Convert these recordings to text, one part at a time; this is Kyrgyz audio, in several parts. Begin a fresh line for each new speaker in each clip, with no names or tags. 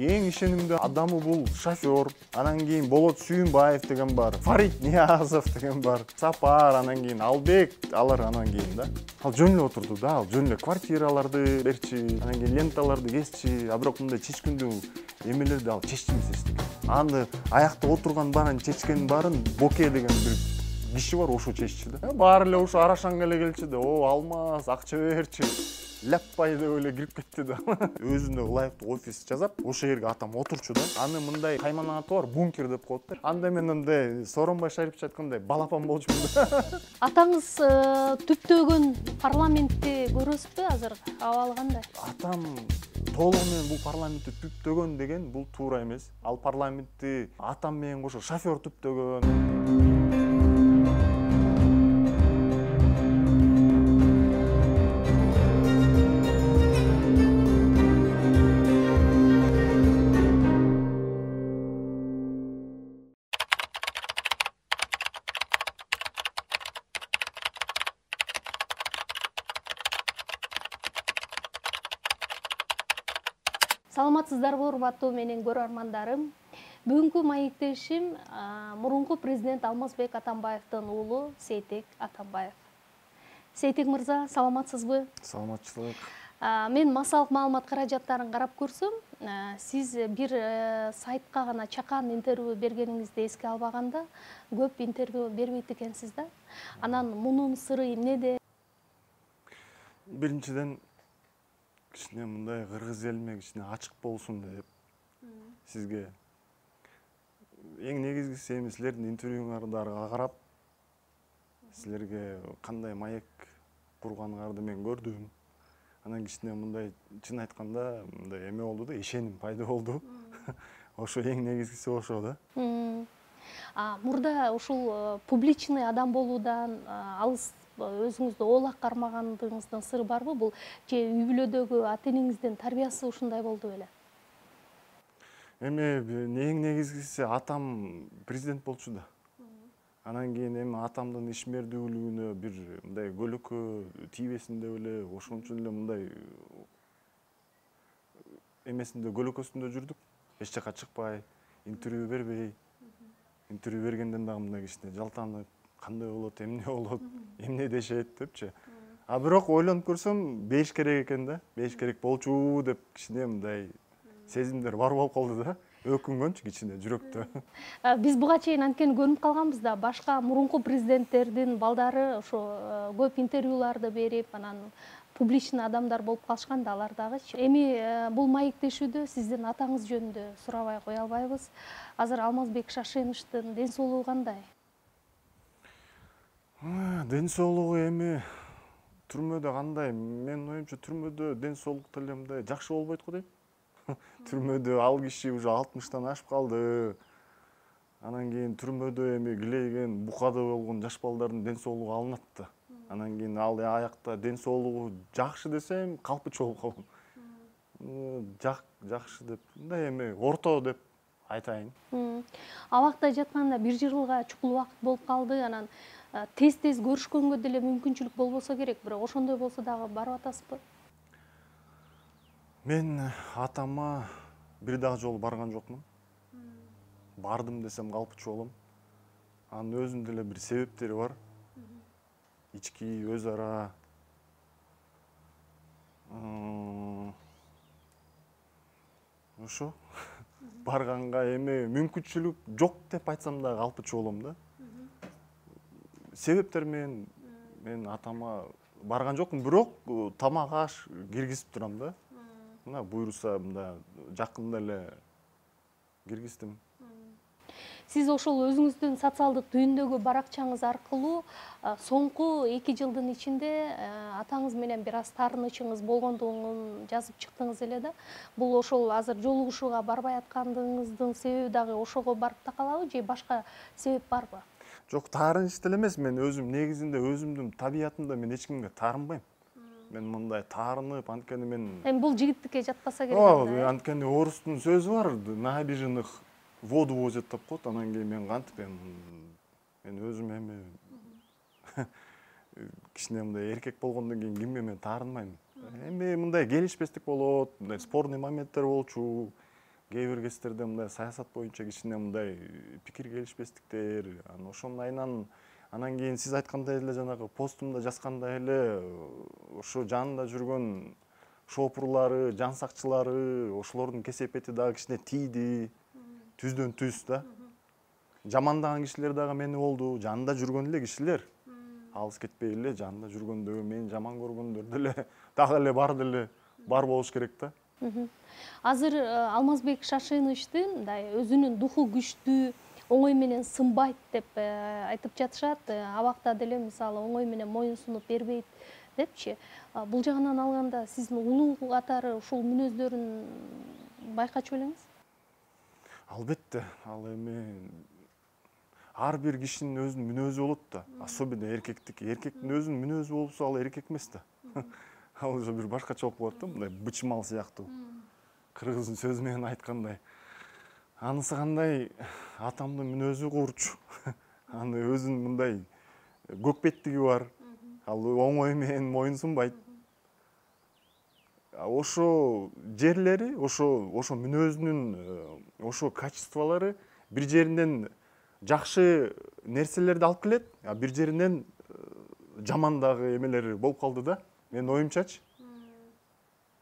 Эң ишенимдүү адамы бул шофер, анан кийин Болот Сүйүнбаев деген бар, Фарид Ниязов деген бар, Сапар, анан кийин Албек, алар анан кийин да. Ал жөн эле отурду да, ал жөн эле квартираларды берчи, анан кийин ленталарды кесчи, а бирок мындай чечкиндүү эмелерди ал чечти эмес эчтеке. Аны аякта отурган баарын чечкенин баарын Боке деген бир киши бар, ошо чеччи да. Баары эле ошо Арашанга эле келчи да, о Алмаз, акча берчи. Ляппай деп эле кирип кетти да. Өзүнө ылайыктуу офис жасап, ошол жерге атам отурчу да. Аны мындай кайман аты бар, бункер деп коет да. Анда мен андай Сооронбай Шарипович айткандай балапан болчумун да.
Атаңыз түптөгөн парламентти көрөсүзбү азыр? Абалы кандай?
Атам толугу менен бул парламентти түптөгөн деген бул туура эмес. Ал парламентти атам менен кошо шофер түптөгөн.
Саламатсыздарбы урматтуу менин көрөрмандарым. Бүгүнкү маектешим мурунку президент Алмазбек Атамбаевдин уулу Сейтек Атамбаев. Сейтек мырза, саламатсызбы?
Саламатчылык.
Мен массалык маалымат каражаттарын карап көрсөм, сиз бир сайтка гана чакан интервью бергениңизди эске албаганда, көп интервью бербейт экенсиз да. Анан мунун сыры эмнеде?
Биринчиден кичине мындай кыргыз элиме кичине ачык болсун деп сизге эң негизгиси эми силердин интервьюңардарга карап силерге кандай маек курганыңарды мен көрдүм. Анан кичине мындай чын айтканда мындай эме болду да, ишеним пайда болду. Ошо эң негизгиси ошо да.
Мурда ушул публичный адам болуудан алыс өзүңүздү оолак кармагандыгыңыздын сыры барбы? Бул же үй бүлөдөгү ата энеңиздин тарбиясы ушундай болду беле?
Эми эң негизгиси атам президент болчу да. Анан кийин эми атамдын ишмердүүлүгүнө бир мындай көлөкө тийбесин деп эле ошон үчүн эле мындай эмесинде көлөкөсүндө жүрдүк. Эч жака чыкпай, интервью бербей. Интервью бергенден дагы мындай кичине жалтанып, кандай болот, эмне болот, эмне дешет депчи. А бирок ойлонуп көрсөм, бериш керек экен да. Бериш керек болчу деп кичине мындай сезимдер бар болуп калды да. Өкүнгөнчү кичине жүрөктө.
Биз буга чейин анткени көрүнүп калганбыз да, башка мурунку президенттердин балдары ошо көп интервьюларды берип, анан публичный адамдар болуп калышкан да, алар дагычы. Эми бул маектешүүдө сиздин атаңыз жөнүндө сурабай кое албайбыз. Азыр Алмазбек Шашеновичтин ден соолугу кандай?
Ден соолугу эми түрмөдө кандай? Менин оюмча түрмөдө ден соолук деле мындай жакшы болбойт го дейм. Түрмөдө ал киши уже 60тан ашып калды. Анан кийин түрмөдө эми килейген, букада болгон жаш балдардын ден соолугу алынат да. Анан кийин ал аякта ден соолугу жакшы десем, калпычы болуп калам. Жакшы деп, мындай эми орто деп айтайын.
Абакта жатканда бир жылга чукул убакыт болуп калды, анан тез-тез көрүшкөнгө деле мүмкүнчүлүк болбосо керек, бирок ошондой болсо дагы барып атасызбы?
Мен атама бир дагы жолу барган жокмун. Бардым десем калпычы болом. Анын өзүнүн деле бир себептери бар. Ички өз ара ошо барганга эми мүмкүнчүлүк жок деп айтсам дагы калпычы болом да. Себептер мен атама барган жокмун, бирок тамак аш киргизип турам да. Мына буйруса мында жакында эле киргиздим.
Сиз ошол өзүңүздүн социалдык түйүндөгү баракчаңыз аркылуу соңку 2 жылдын ичинде атаңыз менен бир аз таарынычыңыз болгондугун жазып чыктыңыз эле да. Бул ошол азыр жолугушууга барбай аткандыгыңыздын себеби дагы ошого барып такалабы же башка себеп барбы?
Жок, таарыныч деле эмес, мен өзүм негизинде өзүмдүн табиятымда мен эч кимге таарынбайм. Мен мындай таарынып, анткени мен
Эми бул жигиттикке жатпаса керек анда.
Анткени орустун сөзү бар, набережных воду возят деп коет. Анан кийин мен кантип мен өзүм эми кичине мындай эркек болгондон кийин кимге мен таарынбайм. Эми мындай келишпестик болот, мындай спорный моменттер болчу. кээ бир кездерде мындай саясат боюнча кичине мындай пикир келишпестиктер, ошонун айынан анан кийин сиз айткандай эле жанагы постумда жазгандай эле ошо жанында жүргөн шопурлары, жан сакчылары, ошолордун кесепети дагы кичине тийди. Түздөн түз да. Жамандаган кишилер дагы мени болду, жанында жүргөн эле кишилер. Алыс кетпей эле жанында жүргөндөгү мени жаман көргөндөр деле дагы эле бар болуш керек да.
Азыр Алмазбек Шашеновичтин мындай өзүнүн духу күчтүү, оңой менен сынбайт деп айтып жатышат. Абакта деле мисалы оңой менен моюн сунуп бербейт депчи. Бул жагынан алганда сиздин улуу катары ушул мүнөздөрүн байкачу белеңиз?
Албетте, ал эми ар бир кишинин өзүнүн мүнөзү болот да, особенно эркектики. Эркектин өзүнүн мүнөзү болсо ал эркек эмес да. Ал уже бир башкача болуп калат да, мындай бычмал сыяктуу. Кыргыздын сөзү менен айткандай. Анысы кандай, атамдын мүнөзү курч. Аны өзүнүн мындай көкпеттиги бар. Ал оңой менен моюн сунбайт. Ошо жерлери, ошо мүнөзүнүн ошо качестволору бир жеринен жакшы нерселерди алып келет, а бир жеринен жаман дагы эмелери болуп калды да. Менин оюмчачы.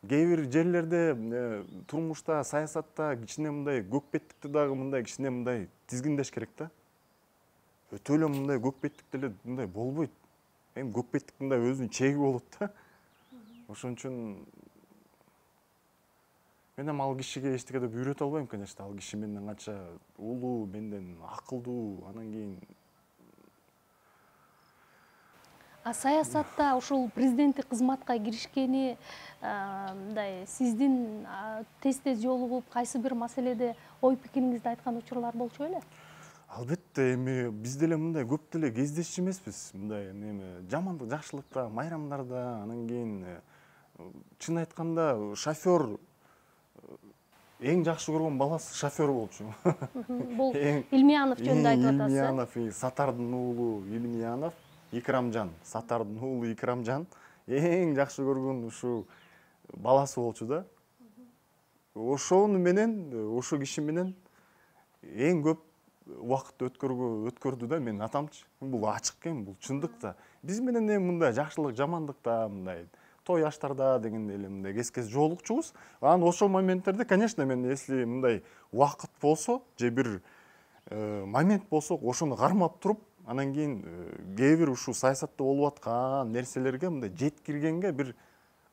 Кээ бир жерлерде турмушта, саясатта кичине мындай көкпеттикти дагы мындай кичине мындай тизгиндеш керек да. Өтө эле мындай көкпеттик деле мындай болбойт. Эми көкпеттиктин мындай өзүнүн чеги болот да. Ошон үчүн мен ал кишиге эчтеке деп үйрөтө албайм, конечно. Ал киши менден канча улуу, менден акылдуу, анан кийин
Саясатта ушул президенттик кызматка киришкени мындай сиздин тез жолугуп кайсы бир маселеде ой пикириңизди айткан учурлар болчу беле?
Албетте, эми биз деле мындай көп деле кездешчү эмеспиз. Мындай эми жамандык, жакшылыкта, майрамдарда, анан кийин чын айтканда шофер эң жакшы көргөн баласы шофер болчу.
Бул Илмиянов жөнүндө айтып атасыз.
Илмиянов, Сатардын уулу Илмиянов, Икрамжан, Сатардын уулу Икрамжан эң жакшы көргөн ушу баласы болчу да. Ошону менен, ошо киши менен эң көп убакыт өткөрдү да менин атамчы. Бул ачык эми, бул чындык да. Биз менен эми мындай жакшылык, жамандыкта, мындай той аштарда дегенде эле мындай кез жолукчубуз. Анан ошол моменттерде, конечно, мен если мындай убакыт болсо, же бир момент болсо, ошону кармап туруп, анан кийин кээ бир ушул саясатта болуп аткан нерселерге мындай жеткиргенге бир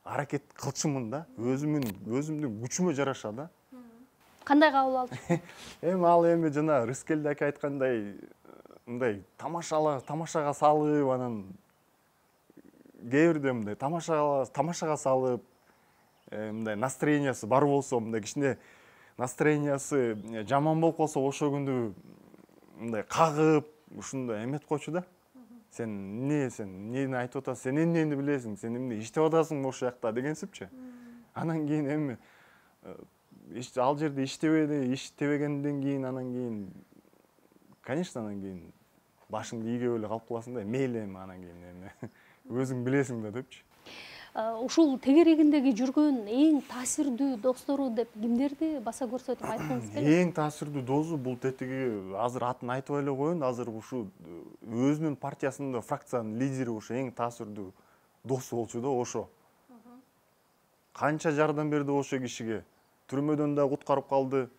аракет кылчумун да. Өзүмдүн күчүмө жараша да.
Кандай кабыл алдыңыз?
Эми ал жана Рыскелди ака айткандай мындай тамашага салып, анан кээ бирде мындай тамашага салып, мындай настроениясы бар болсо, мындай кичине настроениясы жаман болуп калса, ошол күндү мындай кагып, ушундай эметип койчу да. Сен эмнени айтып атасың, сен эмнени билесиң, сен эмне иштеп атасың ошол жакта дегенсипчи. Анан кийин эми ал жерде иштебегенден кийин, анан кийин конечно, анан кийин башыңды ийгеп эле калып каласың да, мейли эми анан кийин эми өзүң билесиң да депчи.
Ушул тегерегиндеги жүргөн эң таасирдүү достору деп кимдерди баса көрсөтүп айткыңыз келет?
Эң таасирдүү досу бул тетиги азыр атын айтып эле коеюн, азыр ушу өзүнүн партиясында фракциянын лидери ушу эң таасирдүү досу болчу да ошо. Канча жардам берди ошо кишиге. Түрмөдөн да куткарып калды.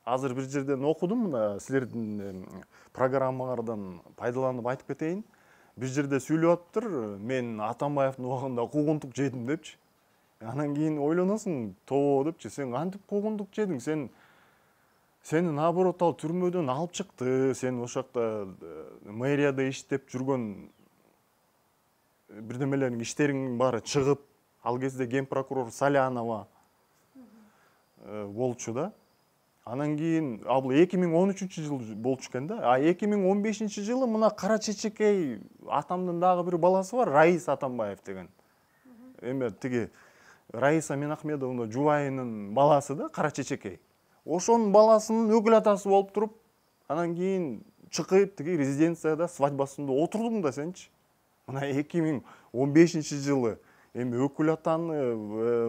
Азыр бир жерден окудум, мына силердин программаңардан пайдаланып айтып кетейин. Бир жерде сүйлөп атыптыр, мен Атамбаевдин убагында куугунтук жедим депчи. Анан кийин ойлоносуң, тоо депчи, сен кантип куугунтук жедиң? Сени наоборот ал түрмөдөн алып чыкты. Сен ошол жакта мэрияда иштеп жүргөн бирдемелердин иштериңдин баары чыгып, ал кезде ген прокурор Салянова болчу да. Анан кийин ал 2013-жылы болчу экен да. А 2015-жылы мына кара чечекей атамдын дагы бир баласы бар, Раиса Атамбаев деген. Эме тиги Раиса Менахмедовна жубайынын баласы да, кара чечекей. Ошонун баласынын өкүл атасы болуп туруп, анан кийин чыкып тиги резиденцияда свадьбасында отурдуң да сенчи. Мына 2015-жылы эми өкүл атаны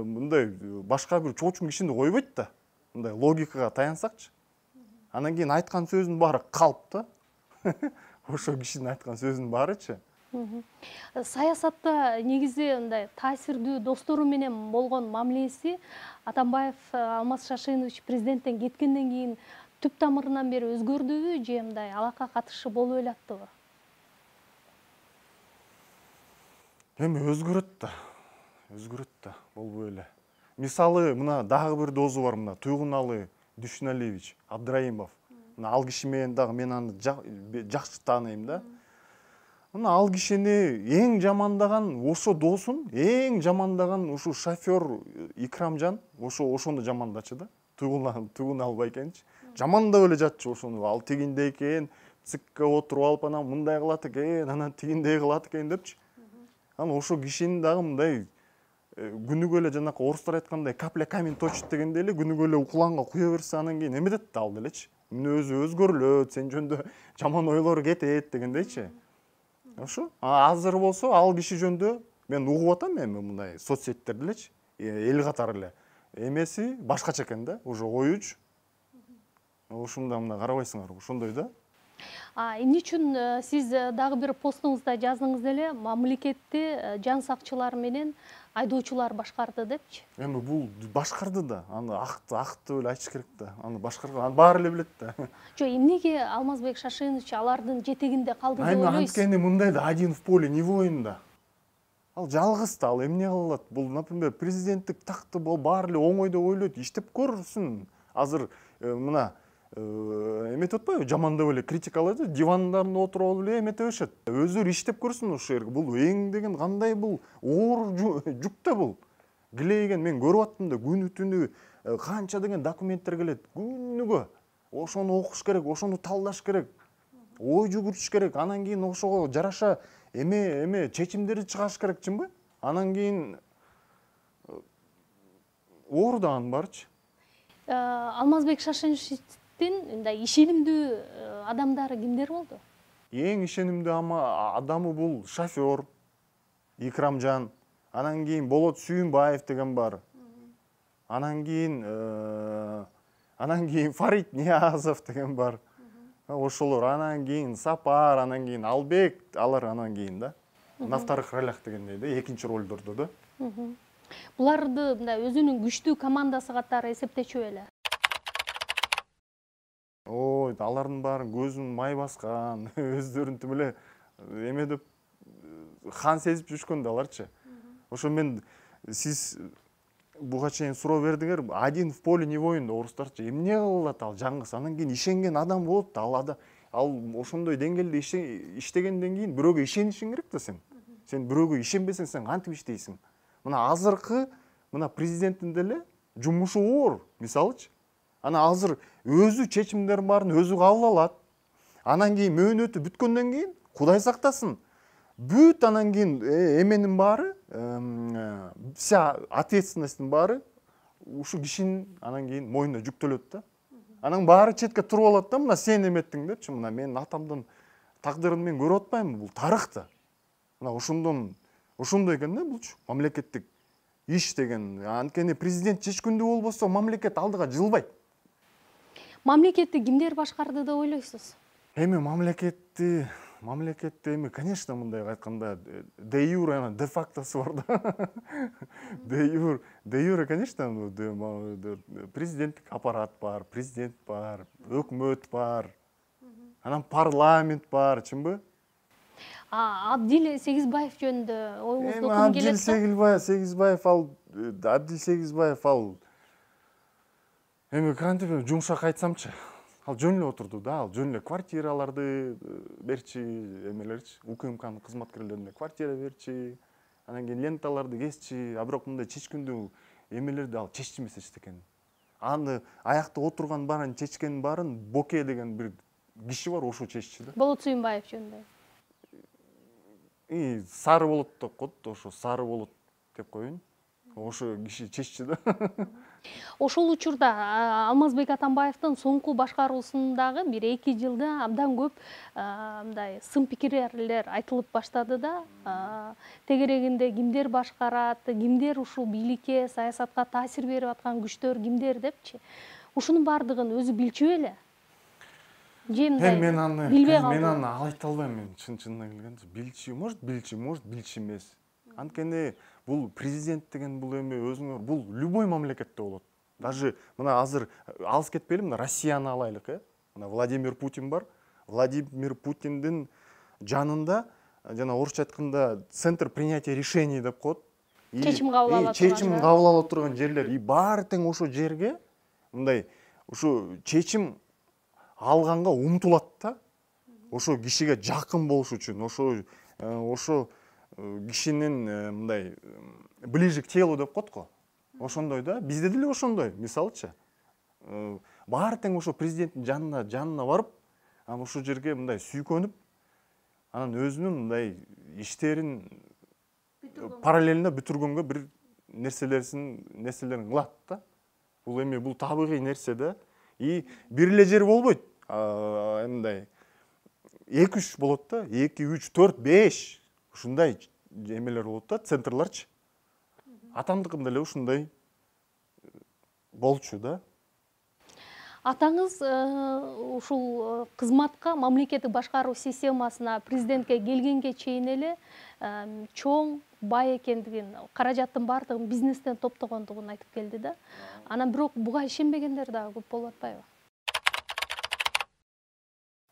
мындай башка бир чоочун кишини койбойт да. мындай логикага таянсакчы, анан кийин айткан сөзүнүн баары калп да. Ошо кишинин айткан сөзүнүн баарычы.
Саясатта негизи мындай таасирдүү достору менен болгон мамилеси Атамбаев Алмаз Шашенович президенттен кеткенден кийин түп тамырынан бери өзгөрдүбү же мындай алака катышы болуп элаттыбы?
Эми өзгөрөт да, болбой эле. Мисалы, мына дагы бир дозу бар, мына Туйгуналы Дүйшүналиевич Абдраимов. Мына ал киши менен дагы мен аны жакшы тааныйм да. Мына ал кишини эң жамандаган ошо досун, эң жамандаган ушу шофер Икрамжан, ошону жамандачы да. Туйгуналы байкенчи. Жамандап эле жатчы ошону. Ал тигинде экен, ЦИКке отуруп алып анан мындай кылат экен, анан тигиндей кылат экен депчи. Анан ошо кишинин дагы мындай күнүгө эле жанакы орустар айткандай капля камень точит дегендей эле күнүгө эле укланга куя берсе анан кийин эметет да ал делечи. Мүнөзү өзгөрүлөт, сен жөнүндө жаман ойлор кетет дегендейчи. Ошо. Азыр болсо ал киши жөнүндө мен угуп атам эми мындай соцсеттерде элечи, эл катары эле. Эмеси башкача экен да, уже оюч. Ушунда мына карабайсыңар, ошондой да.
Эмне үчүн сиз дагы бир постуңузда жаздыңыз эле, мамлекетти жан сакчылар менен айдоочулар башкарды депчи? Эми
бул башкарды да, аны акты эле айтыш керек да. Аны башкарган, аны баары эле билет да.
Жок, эмнеге Алмазбек Шашенович алардын жетегинде калды деп ойлойсуз?
Анткени мындай да, один в поле не воин да. Ал жалгыз да, ал эмне кыла алат? Бул, например, президенттик такты баары эле оңой деп ойлойт, иштеп көрсүн. Азыр мына эметип атпайбы, жамандап эле критикалайт, дивандарында отуруп алып эле эметип беришет. Өздөрү иштеп көрсүн ушул жерге. Бул эң деген кандай бул оор жүк да бул. Килейген мен көрүп аттым да, күнү түнү канча деген документтер келет. Күнүгө ошону окуш керек, ошону талдаш керек, ой жүгүртүш керек. Анан кийин ошого жараша эме чечимдерди чыгарыш керек, чынбы? Анан кийин оор да анын баарычы.
Алмазбек Шашенович мындай ишенимдүү адамдары кимдер болду?
Эң ишенимдүү адамы бул шофер Икрамжан, анан кийин Болот Сүйүнбаев деген бар. Анан кийин Фарит Ниязов деген бар. Ошолор, анан кийин Сапар, анан кийин Албек, алар анан кийин да. На вторых ролях дегендей да, экинчи ролдордо да.
Буларды мындай өзүнүн күчтүү командасы катары эсептечү эле.
Ой, алардын баарын көзүн май баскан, өздөрүн тим эле эме деп хан сезип жүрүшкөн да аларчы. Ошо мен сиз буга чейин суроо бердиңер, один в поле не воин да, орустарча эмне кылат ал жаңгыз, анан кийин ишенген адам болот да, ал ошондой деңгээлде иштегенден кийин бирөөгө ишенишиң керек да сен. Сен бирөөгө ишенбесең сен кантип иштейсиң? Мына азыркы мына президенттин деле жумушу оор, мисалычы. Ана азыр өзү чечимдерин баарын өзү кабыл алат. Анан кийин мөөнөтү бүткөндөн кийин Кудай сактасын. Бүт анан кийин эменин баары, вся ответственностьтин баары ушу кишинин анан кийин мойнуна жүктөлөт да. Анан баары четке туруп алат да, мына сен эметтиң депчи, мына менин атамдын тагдырын мен көрүп атпаймынбы, бул тарых да. Мына ошондой экен да булчу мамлекеттик иш деген. Анткени президент чечкүндүү болбосо мамлекет алдыга жылбайт.
Мамлекетти кимдер башкарды деп ойлойсуз?
Эми мамлекетти эми, конечно, мындай айтканда де юре, де фактосы бар да. Де юре, конечно, президенттик аппарат бар, президент бар, өкмөт бар, анан парламент бар, чынбы?
Абдил Сегизбаев жөнүндө оюңузду окугум келет да.
Абдил Сегизбаев ал эми кантип жумшак айтсамчы, ал жөн эле отурду да, ал жөн эле квартираларды берчи, эмелерчи, УКМКнын кызматкерлерине квартира берчи, анан кийин ленталарды кесчи, а бирок мындай чечкүндүү эмелерди ал чечти эмес эчтекен. Аны аякта отурган баарын чечкенин баарын Боке деген бир киши бар, ошо чечти да.
Болот Сүйүнбаев жөнүндө.
Сары болот деп коет, ошо сары болот деп коеюн. Ошо киши чечти да.
Ошол учурда Алмазбек Атамбаевдин соңку башкаруусундагы 1-2 жылда абдан көп мындай сын пикирлер айтылып баштады да. Тегерегинде кимдер башкарат, кимдер ушул бийликке, саясатка таасир берип аткан күчтөр кимдер депчи. ушунун баардыгын өзү билчү беле? Же мындай
мен аны
билбей
мен
калдыбы?
аны айта албайм. Мен чынына келгенде билчү, может билчү эмес. Анткени бул президент деген бул эми өзүңөр бул любой мамлекетте болот. Даже мына азыр алыс кетпейли, мына Россияны алайлык, Мына Владимир Путин бар. Владимир Путиндин жанында, жана орусча айтканда, центр принятия решений деп коет.
Чечим кабыл ала турган.
Чечим кабыл ала турган жерлер. И баары тең ошо жерге мындай ушу чечим алганга умтулат да. Ошо кишиге жакын болуш үчүн, ошо кишинин мындай ближе к телу деп коет го. Ошондой да. Бизде деле ошондой. Мисалычы, баары тең ошо президенттин жанына барып, анан ошол жерге мындай сүйкөнүп, анан өзүнүн мындай иштерин параллельно бүтүргөнгө бир нерселерин кылат да. Бул эми бул табигый нерсе да. И бир эле жер болбойт. Мындай 2-3 болот да. 2, 3, 4, 5 ушундай эмелер болот да, центрларчы. Атамдыкында эле ушундай болчу да.
Атаңыз ушул кызматка, мамлекеттик башкаруу системасына, президентке келгенге чейин эле чоң, бай экендигин, каражаттын баардыгын бизнестен топтогондугун айтып келди да. Анан бирок буга ишенбегендер дагы көп болуп атпайбы?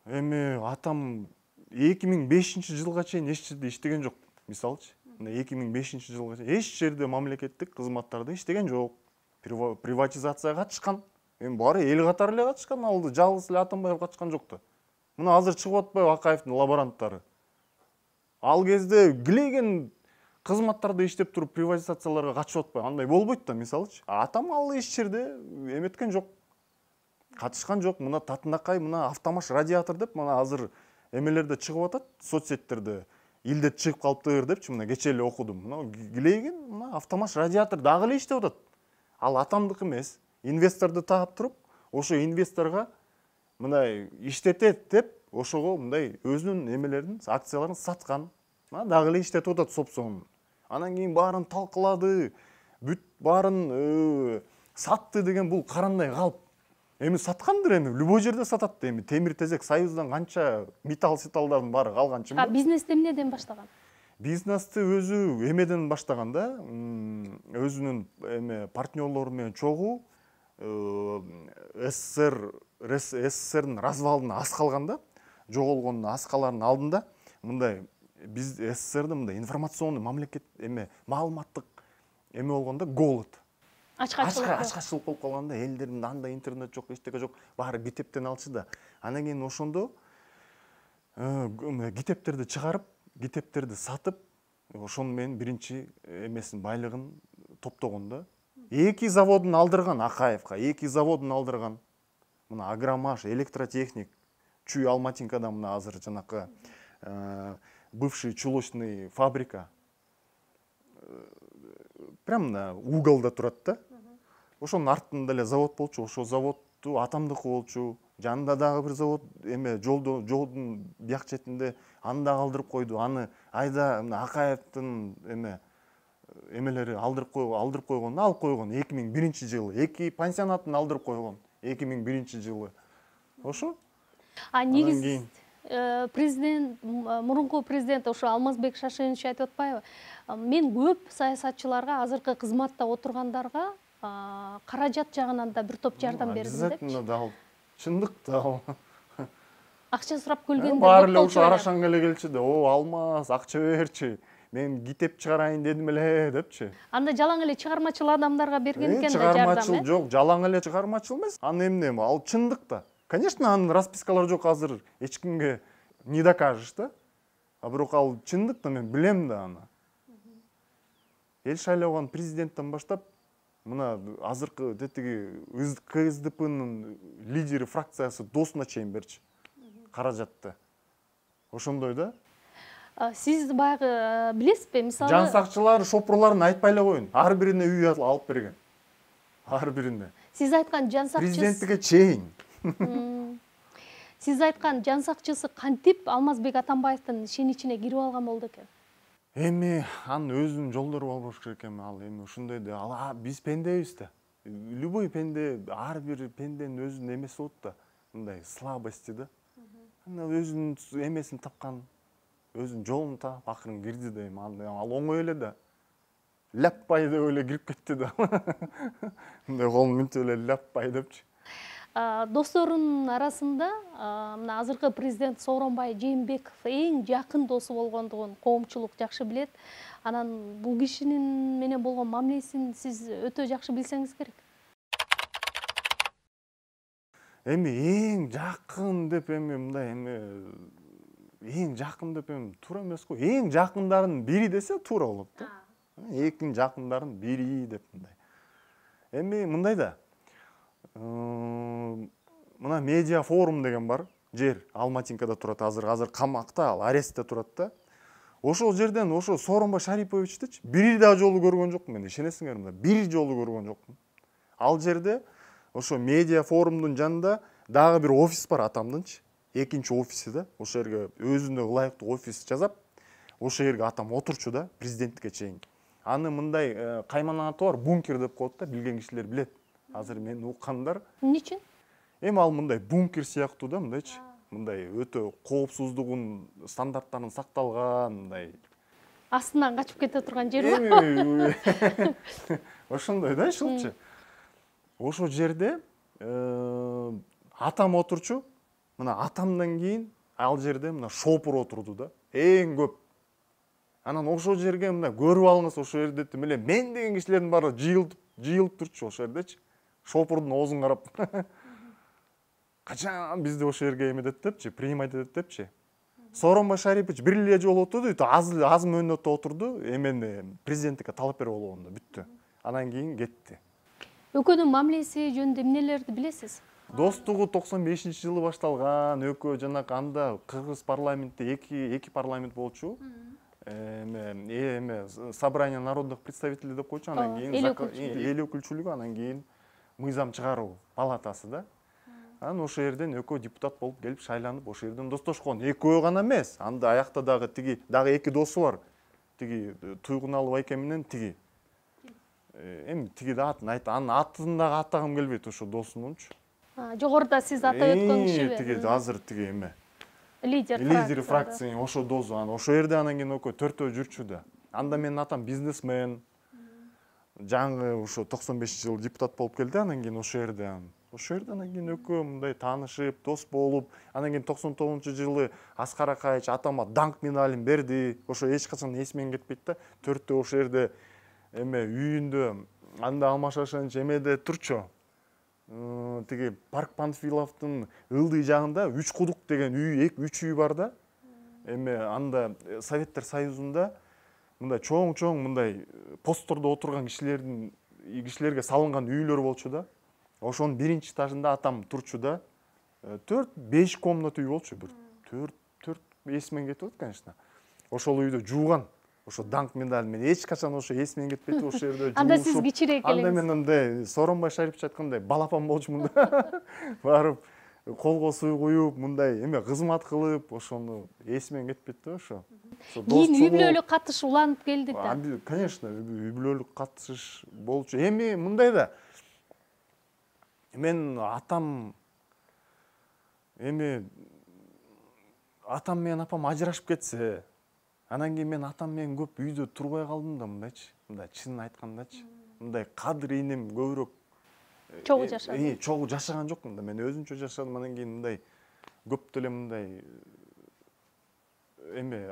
Эми атам 2005-жылга чейин эч жерде иштеген жок. Мисалычы, 2005-жылга чейин эч жерде мамлекеттик кызматтарда иштеген жок. Приватизацияга катышкан. Эми баары эл катары эле катышкан, алды жалгыз эле Атамбаев катышкан жок да. Мына азыр чыгып атпайбы Акаевдин лаборанттары. Ал кезде килеген кызматтарда иштеп туруп приватизацияларга катышып атпайбы? Андай болбойт да, мисалычы. Атам ал эч жерде эметкен жок. Катышкан жок. Мына Татынакай, мына автомаш радиатор деп, мына азыр эмелерде чыгып атат, соцсеттерде. Илдет чыгып калыптыр депчи, мына кечээ эле окудум. Мына килеген, мына автомаш радиатор дагы эле иштеп атат. Ал атамдык эмес. Инвесторду таап туруп, ошо инвесторго мындай иштетет деп, ошого мындай өзүнүн эмелерин, акцияларын саткан. Мына дагы эле иштетип атат сопсоң. Анан кийин баарын талкылады, бүт баарын сатты деген бул карандай калп. Эми саткандыр, эми любой жерде сатат. Эми темир тезек Союздан канча металл-сеталдардын баары калганчы.
Бизнести эмнеден баштаган?
Бизнести өзү эмеден баштаган да. Өзүнүн эме партнерлору менен чогуу СССРдин развалына аз калган да. Жоголгон аскалардын алдында мындай биз СССРдин мындай информационный мамлекет маалыматтык эме болгондо голод. Ачкачылык болуп калганда, элдерде андай интернет жок, эчтеке жок, баары китептен алчу да. Анан кийин ошондо китептерди чыгарып, китептерди сатып, ошону менен биринчи эмесин байлыгын топтогон да. 2 заводун алдырган Акаевка, 2 заводун алдырган. Мына Агромаш, Электротехник, Чүй Алматинкада мына азыр жанакы бывший чулочный фабрика. Прям мына уголда турат да. Ошонун артында эле завод болчу, ошол заводду атамдыкы болчу. Жанында дагы бир завод жолдун бияк четинде аны да калтырып койду. Аны айда Акаевдин эмелери алдырып койгон, алып койгон 2001-жылы. 2 пансионатын алдырып койгон 2001-жылы. Ошо.
Негизи президент, мурунку президент ошо Алмазбек Шашенович айтып атпайбы? Мен көп саясатчыларга, азыркы кызматта отургандарга каражат жагынан да бир топ жардам бердим депчи.
Обязательно дал. Чындык дал.
Акча сурап келгендер
баары эле ошо Арашанга эле келчү да. Алмаз, акча берчи. Мен китеп чыгарайын дедим эле депчи.
Анда жалаң эле чыгармачыл адамдарга берген экен да жардам.
Чыгармачыл жок, жалаң эле чыгармачыл эмес. Аны эмне? Ал чындык да. Конечно, анын распискалары жок, азыр эч кимге не докажешь да. А бирок ал чындык да, мен билем да аны. Эл шайлаган президенттен баштап, мына азыркы тетиги КСДПнын лидери фракциясы досуна чейин берчи каражатты. Ошондой да.
Сиз баягы билесизби, мисалы
жан сакчылар шопурларын айтпай эле коюн. Ар бирине үй алып берген. Ар бирине.
Сиз айткан жан сакчысы
президенттикке чейин.
Сиз айткан жан сакчысы кантип Алмазбек Атамбаевдин ишин ичине кирип алган болду экен?
Эми анын өзүнүн жолдору болуш керек эми, ал эми ушундай да. Биз пендебиз да. любой пенде, ар бир пенденин өзүнүн эмеси болот да, мындай слабости да. Өзүнүн эмесин тапкан, өзүнүн жолун таап акырын кирди да, ал оңой эле да. Ляппай деп эле кирип кетти да. Мындай колун мүнтүп эле ляппай депчи.
Досторунун арасында мына азыркы президент Сооронбай Жээнбеков эң жакын досу болгондугун коомчулук жакшы билет. Анан бул кишинин менен болгон мамилесин сиз өтө жакшы билсеңиз керек.
Эми эң жакын деп мындай эң жакын деп туура эмес го. Эң жакындардын бири десе туура болот да. Эң жакындардын бири деп мындай. Эми мындай да. Мына медиа форум деген бар. Жер Алматинкада турат, азыр камакта, ал арестте турат да. Ошол жерден ошо Сооронбай Шариповичтичи бир да жолу көргөн жокмун мен, ишенесиңерби? Бир жолу көргөн жокмун. Ал жерде ошо медиа форумдун жанында дагы бир офис бар атамдынчы. Экинчи офиси да. Ошол жерге өзүнө ылайыктуу офис жасап, ошол жерге атам отурчу да, президенттикке чейин. Аны мындай кайман аты бар, бункер деп коет да, билген кишилер билет. Азыр мен уккандар.
Эмне үчүн?
Эми ал мындай бункер сыяктуу да, мындайчы. Мындай өтө коопсуздугун стандарттарын сакталган, мындай.
Астынан качып кете турган жер бар.
Ошондой да, ушулчу. Ошол жерде атам отурчу. Мына атамдан кийин ал жерде мына шопур отурду да. Эң көп. Анан ошол жерге мына көрүп алыңыз, ошол жерде эле мен деген кишилердин баары жыйылып турчу ошол жердечи. Шопурдун оозун карап. Качан бизди ошол жерге эмедет депчи, принимать этет депчи. Сооронбай Шарипович бир эле жолу отурду, аз мөөнөттө отурду, эмени президенттикке талап берип алганда бүттү. Анан кийин кетти.
Экөөнүн мамилеси жөнүндө эмнелерди билесиз?
Достугу 95-жылы башталган, экөө жанакы анда Кыргыз парламентте эки парламент болчу. Собрание народных представителей деп койчу, анан кийин эл өкүлчүлүгү, анан кийин мыйзам чыгаруу палатасы да. Анан ошол жерден экөө депутат болуп келип шайланып, ошол жерден достошкон. Экөө гана эмес, анда аякта дагы эки досу бар. Тиги Туйгуналов айке менен тиги. Эми тиги да атын айт, анын атын дагы атагым келбейт ошо досунунчу.
Жогоруда сиз атап өткөн кишиби?
Тиги азыр тиги эме.
Лидер
фракция, ошо досу, анан ошол жерде анан кийин экөө төртөө жүрчү да. Анда менин атам бизнесмен. Жаңы ошо 95-жылы депутат болуп келди, анан кийин ошол жерде анан кийин экөө мындай таанышып, дос болуп, анан кийин 99-жылы Аскар Акаевич атама даңк медалин берди. Ошо эч качан эсимден кетпейт да. Төртөө ошол жерде эме үйүндө анда алмашашынчы эмеде турчу. Тиги Парк Панфиловдун ылдый жагында Үч кудук деген үч үй бар да. Эме анда Советтер Союзунда мындай чоң мындай посттордо отурган кишилерге салынган үйлөр болчу да. Ошонун биринчи этажында атам турчу да. 4-5 комната үй болчу, бир 4 эсимден кетип атат, конечно. Ошол үйдө жууган. Ошо даңк медаль мен эч качан ошо эсимден кетпейт, ошол жерде жуушуп.
Анда сиз кичирээк элеңиз.
Анда мен андай Сооронбай Шарипович айткандай балапан болчумун да. Барып колго суу куюп, мындай эме кызмат кылып, ошону эсимден кетпейт да ошо.
Кийин үй бүлөлүк катыш уланып келди да.
Конечно, үй бүлөлүк катышыш болчу. Эми мындай да. Мен атам менен апам ажырашып кетсе, анан кийин мен атам менен көп үйдө турбай калдым да, мындайчы. Мындай чынын айткандачы. Мындай кадыр инем көбүрөөк
чогуу жашады.
Чогуу жашаган жокмун да. Мен өзүнчө жашадым, анан кийин мындай көп деле мындай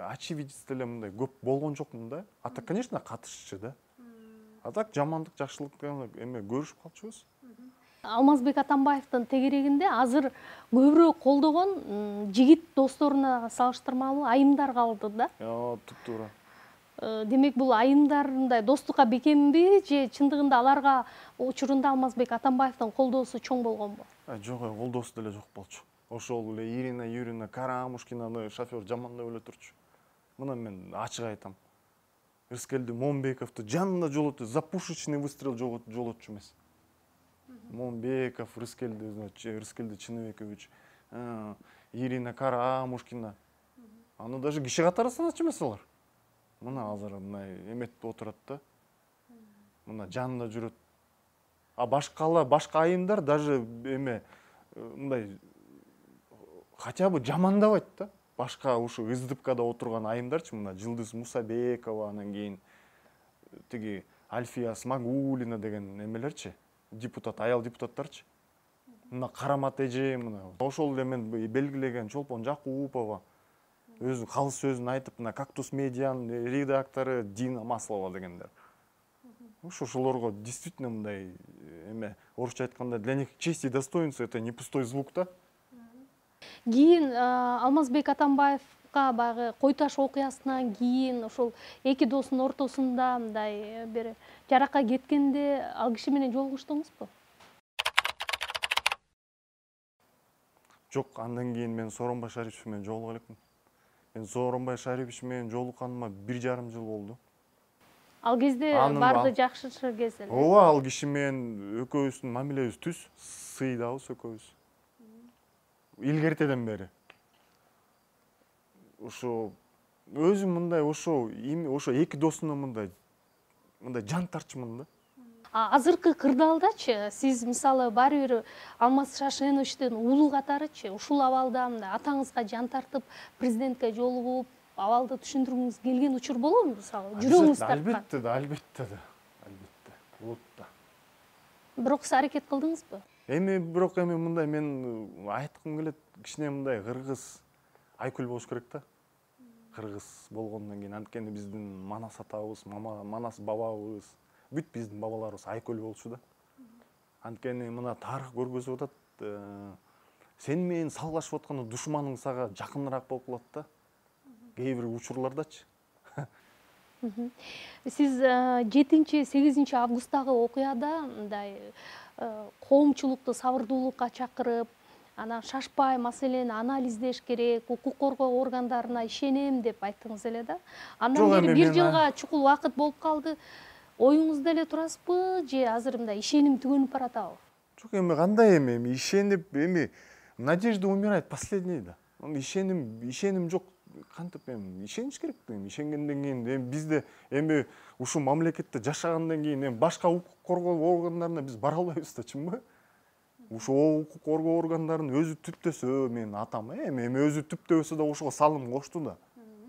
очевидец деле мындай көп болгон жокмун да. Ата, конечно, катышчу да. А так жамандык, жакшылык көрүшүп калчубуз.
Алмазбек Атамбаевдин тегерегинде азыр көбүрөөк колдогон жигит досторуна салыштырмалуу айымдар калды да.
Туптуура.
Демек бул айымдар мындай достукка бекемби же чындыгында аларга учурунда Алмазбек Атамбаевдин колдоосу чоң болгонбу?
Жок, колдоосу деле жок болчу. Ошол эле Ирина Юрьевна Карамушкинаны шофер жамандап эле турчу. Мына мен ачык айтам. Рыскелди Момбековду жанында жолоту, за пушечный выстрел жолотчу эмес. Момбеков, Рыскелди Чыныбекович, Ирина Карамушкина. Аны даже киши катары саначу эмес алар. Мына азыр мындай эметип отурат да. Мына жанында жүрөт. А башка айымдар даже эме мындай хотя бы жамандабайт да. Башка ушу СДПКда отурган айымдарчы, мына Жылдыз Мусабекова, анан кийин тиги Альфия Смагулина деген эмелерчи, депутат, аял депутаттарчы. Мына Карамат эже, мына ошол эле мен белгилеген Чолпон Жакупова өзү калыс сөзүн айтып, мына Кактус медианын редактору Дина Маслова дегендер. Ошолорго действительно мындай эме, орусча айтканда, для них честь и достоинство — это не пустой звук да.
Кийин Алмазбек Атамбаевга баягы Кой Таш окуясынан кийин ошол эки досунун ортосунда мындай бир жаракка кеткенде ал киши менен жолугуштуңузбу?
Жок, андан кийин мен Сооронбай Шарипович менен жолуга элекмин. Мен Сооронбай Шарипович менен жолукканыма 1,5 жыл болду.
Ал кезде барды жакшы кез эле.
Ооба, ал киши менен экөөбүздүн мамилебиз түз, сыйдабыз экөөбүз. Илгертеден бери. Ошо өзүм мындай ошо эки досуна мындай жан тартчумун да.
Азыркы кырдаалдачы сиз мисалы баары бир Алмаз Шашеновичтин уулу катарычы ушул абалда мындай атаңызга жан тартып президентке жолугуп абалды түшүндүргүңүз келген учур болобу мисалы? Жүрөгүңүз тарткан?
Албетте. Болот да.
Бирок сиз аракет кылдыңызбы?
Бирок мындай мен айткым келет, кичине мындай кыргыз Айкүл болуш керек да. Кыргыз болгондон кийин анткени биздин Манас атабыз, Манас бабабыз, бүт биздин бабаларыбыз Айкүл болчу да. Анткени мына тарых көргөзүп атат, сен менен салгылашып атканда душманың сага жакыныраак болуп калат да. Кээ бир учурлардачы.
Сиз 7-8 августтагы окуяда мындай коомчулукту сабырдуулукка чакырып, анан шашпай маселени анализдеш керек, укук коргоо органдарына ишенем деп айттыңыз эле да. Андан бери 1 жылга чукул убакыт болуп калды. Оюңузда эле турасызбы же азыр мындай ишеним түгөнүп баратабы?
Жок, кандай ишенип, надежда умирает последний да. Ишеним жок. Кантип ишениш керек да. Ишенгенден кийин бизде ушу мамлекетте жашагандан кийин башка укук коргоо органдарына биз бара албайбыз да, чынбы? Ушу укук коргоо органдарын өзү түптөсө, мен атам өзү түптөбөсө да ошого салым кошту да.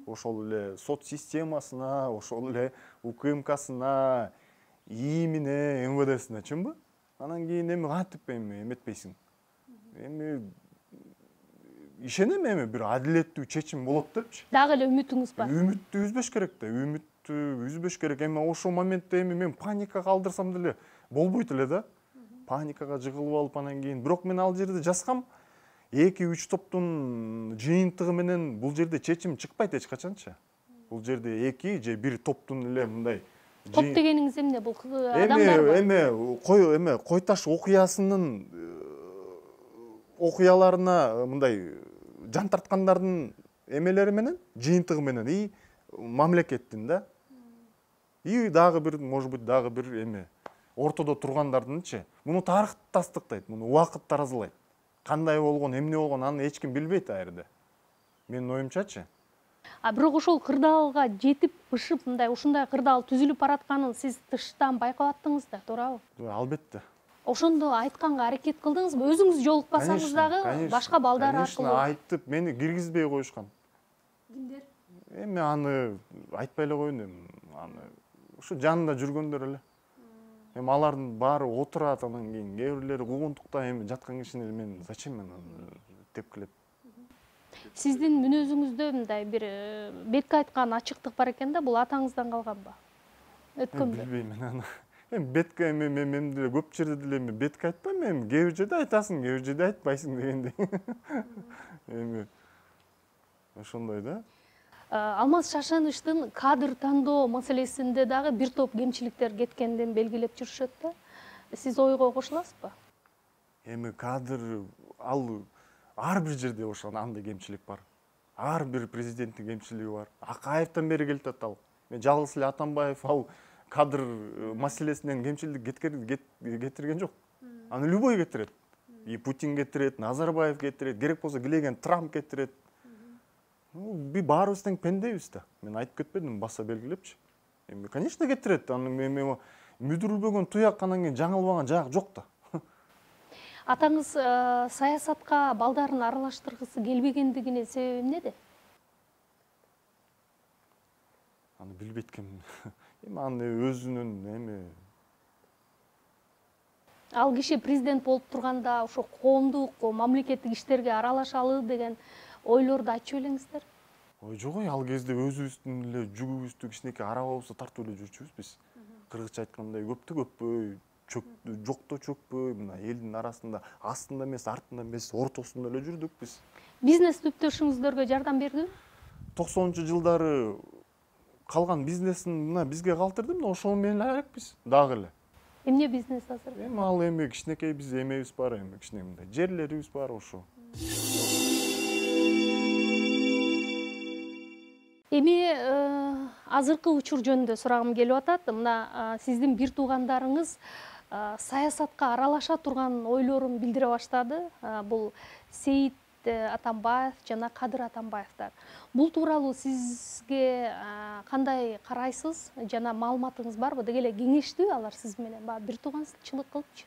Ошол эле сот системасына, ошол эле УКМКсына, ИИМине, МВДсине, чынбы? Анан кийин кантип эметпейсиң? Ишенем бир адилеттүү чечим болот депчи.
Дагы эле үмүтүңүз бар?
Үмүттү үзбөш керек да, үмүттү үзбөш керек. Ошол моментте мен паникага калдырсам деле болбойт эле да. Паникага жыгылып алып анан кийин, бирок мен ал жерде жазгам, 2-3 топтун жыйынтыгы менен бул жерде чечим чыкпайт эч качанчы. Бул жерде 2 же 1 топтун эле мындай.
Топ дегениңиз эмне? Бул адамдар
Кой Таш окуясынын окуяларына мындай жан тарткандардын эмелери менен, жыйынтыгы менен и мамлекеттин да. И дагы бир, может быть, дагы бир ортодо тургандардынчы. Муну тарых тастыктайт, муну убакыт таразылайт. Кандай болгон, эмне болгон, аны эч ким билбейт а жерде. Менин оюмчачы.
Бирок ошол кырдаалга жетип, бышып, мындай ушундай кырдаал түзүлүп баратканын сиз тыштан байкап аттыңыз да, туурабы?
Албетте.
Ошондо айтканга аракет кылдыңызбы? Өзүңүз жолукпасаңыз дагы башка балдар аркылуу.
Конечно, айтып, мени киргизбей коюшкан.
Кимдер?
Аны айтпай эле коеюн, аны ушу жанында жүргөндөр эле. Алардын баары отурат, анан кийин кээ бирлери куугунтукта жаткан кишини мен зачем мен тепкилеп.
Сиздин мүнөзүңүздө мындай бир бетке айткан ачыктык бар экен да, бул атаңыздан калганбы? Өткөндө.
Билбейм мен аны. Бетке мен деле көп жерде деле бетке айтпайм, кээ бир жерде айтасың, кээ бир жерде айтпайсың дегендей. Ошондой да.
Алмаз Шашеновичтин кадр тандоо маселесинде дагы бир топ кемчиликтер кеткендин белгилеп жүрүшөт да. Сиз ойго кошуласызбы?
Кадр ал ар бир жерде андай кемчилик бар. Ар бир президенттин кемчилиги бар. Акаевден бери келатат ал. Мен жалгыз эле Атамбаев ал кадр маселесинен кемчилик кетирген жок. Аны любой кетирет. И Путин кетирет, Назарбаев кетирет, керек болсо килеген Трамп кетирет. Баарыбыз тең пендебиз да. Мен айтып кетпедим, баса белгилепчи. Конечно кетирет. мүдүрүлбөгөн туяк, анан кийин жаңылбаган жак жок да.
Атаңыз саясатка балдарын аралаштыргысы келбегендигинин себеби эмнеде?
Аны билбейт экенмин. Эми аны өзүнүн
Ал киши президент болуп турганда ошо коомдук, мамлекеттик иштерге аралашалы деген ойлорду айтчу белеңиздер?
ой жок, ал кезде өзүбүздүн эле жүгүбүздү кичинекей арабабызды тартып эле жүрчүбүз биз. Кыргызча айткандай көптө көппөй, жокто чөкпөй, мына элдин арасында астында эмес, артында эмес, ортосунда эле жүрдүк биз.
Бизнес түптөшүңүздөргө жардам бердиби?
90-жылдары калган бизнесин мына бизге калтырды, мына ошол менен алекпиз дагы эле.
Эмне бизнес азыр?
Эми ал кичинекей биз эмебиз бар, кичине мындай жерлерибиз бар ошо.
Эми азыркы учур жөнүндө сурагым келип атат. Мына сиздин бир туугандарыңыз саясатка аралаша турган ойлорун билдире баштады. Бул Сейит Атамбаев жана Кадыр Атамбаевдер. Бул тууралуу сизге кандай карайсыз жана маалыматыңыз барбы? Деги эле кеңештиби алар сиз менен? Бир тууганчылык кылыпчы.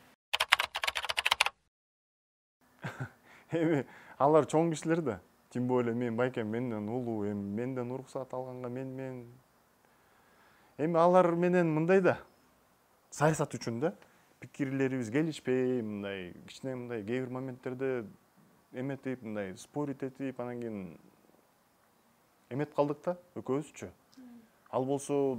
Эми алар чоң кишилер да. Тем более мен байкем менден улуу, менден уруксат алганга мен. Эми алар менен мындай да, саясат үчүн да, пикирлерибиз келишпей, мындай кичине мындай кээ бир моменттерде эметип, мындай спорить этип, анан кийин эмет калдык да, экөөбүзчү. Ал болсо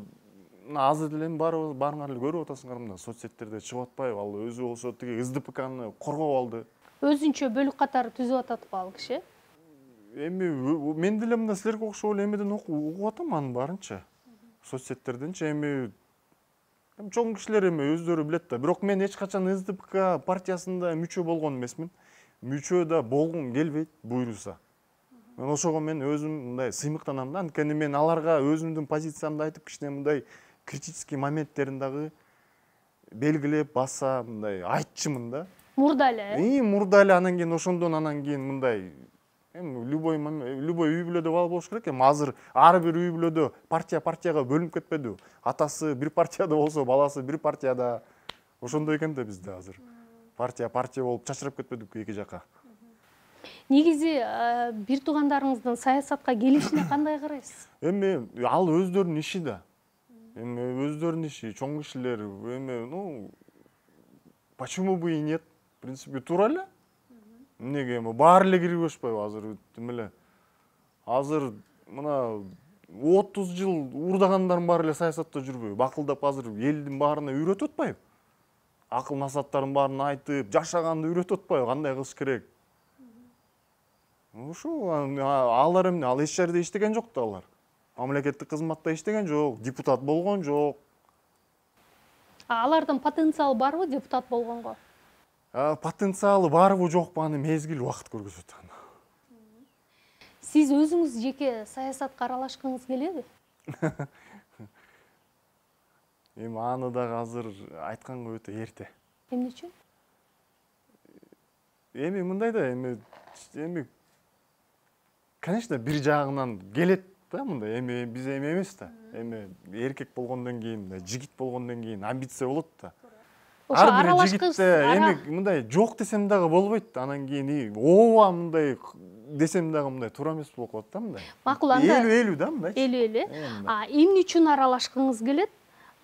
азыр деле баарыңар эле көрүп атасыңар, мына соцсеттерде чыгып атпайбы? Ал өзү болсо тиги СДПКны коргоп алды.
Өзүнчө бөлүк катары түзүп атат ал киши.
Эми мен деле мында силерге окшоп эле эмеден угуп атам анын баарынча. Соцсеттерденчи эми чоң кишилер эми өздөрү билет да. Бирок мен эч качан СДПК партиясында мүчө болгон эмесмин. Мүчө да болгум келбейт буйруса. Мен ошого өзүм мындай сыймыктанам да. Анткени мен аларга өзүмдүн позициямды айтып, кичине мындай критический моменттерин дагы белгилеп баса, мындай айтчымын да.
Мурда эле.
Мурда эле, анан кийин ошондон анан кийин мындай любой үй бүлөдө болуш керек. Азыр ар бир үй бүлөдө партияга бөлүнүп кетпедиби? Атасы бир партияда болсо, баласы бир партияда. Ошондой экен да бизде азыр. Партия болуп чачырап кетпедикпи эки жака?
Негизи бир туугандарыңыздын саясатка келишине кандай карайсыз?
Эми ал өздөрүнүн иши да. Эми өздөрүнүн иши, чоң кишилер, эми почему бы и нет? В принципе, туура эле. Эмнеге баары эле кирип өшпөйбү азыр эле. Азыр мына 30 жыл уурдагандарым баары эле саясатта жүрбөйбү? Акылдап азыр элдин баарына үйрөтүп атпайбы? Акыл насааттарын баарын айтып, жашаганды үйрөтүп атпайбы? Кандай кылыш керек? Ошо алар эмне? Ал эч жерде иштеген жок да алар. Мамлекеттик кызматта иштеген жок, депутат болгон жок.
Алардын потенциалы барбы депутат болгонго?
Потенциалы барбы жокпу, аны мезгил убакыт көргөзөт.
Сиз өзүңүз жеке саясатка аралашкыңыз келеби?
Эми аны дагы азыр айтканга өтө эрте.
Эмне үчүн?
Эми мындай да, эми конечно бир жагынан келет да, мындай биз эмес да. Эми эркек болгондон кийин, жигит болгондон кийин амбиция болот да.
Ошо
Ар бир
аралашкыңыз
жигитте мындай жок десем дагы болбойт. Анан кийин ооба мындай десем дагы мындай туура эмес болуп калат да, мындай.
Макул, анда
Элүү да, мындай.
Элүү. Эмне үчүн аралашкыңыз келет?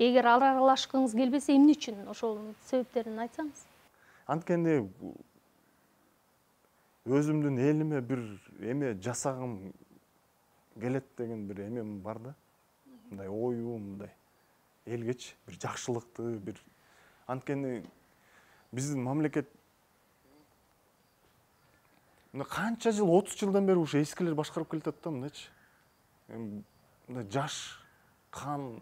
Эгер аралашкыңыз келбесе, эмне үчүн? Ошол себептерин айтсаңыз.
Анткени өзүмдүн элиме бир эме жасагым келет деген бир эмем бар да. Мындай оюм, мындай элгечи бир жакшылыкты, бир анткени биздин мамлекет канча жыл, 30 жылдан бери ушу эскилер башкарып келатат да, мындайчы. Мындай жаш кан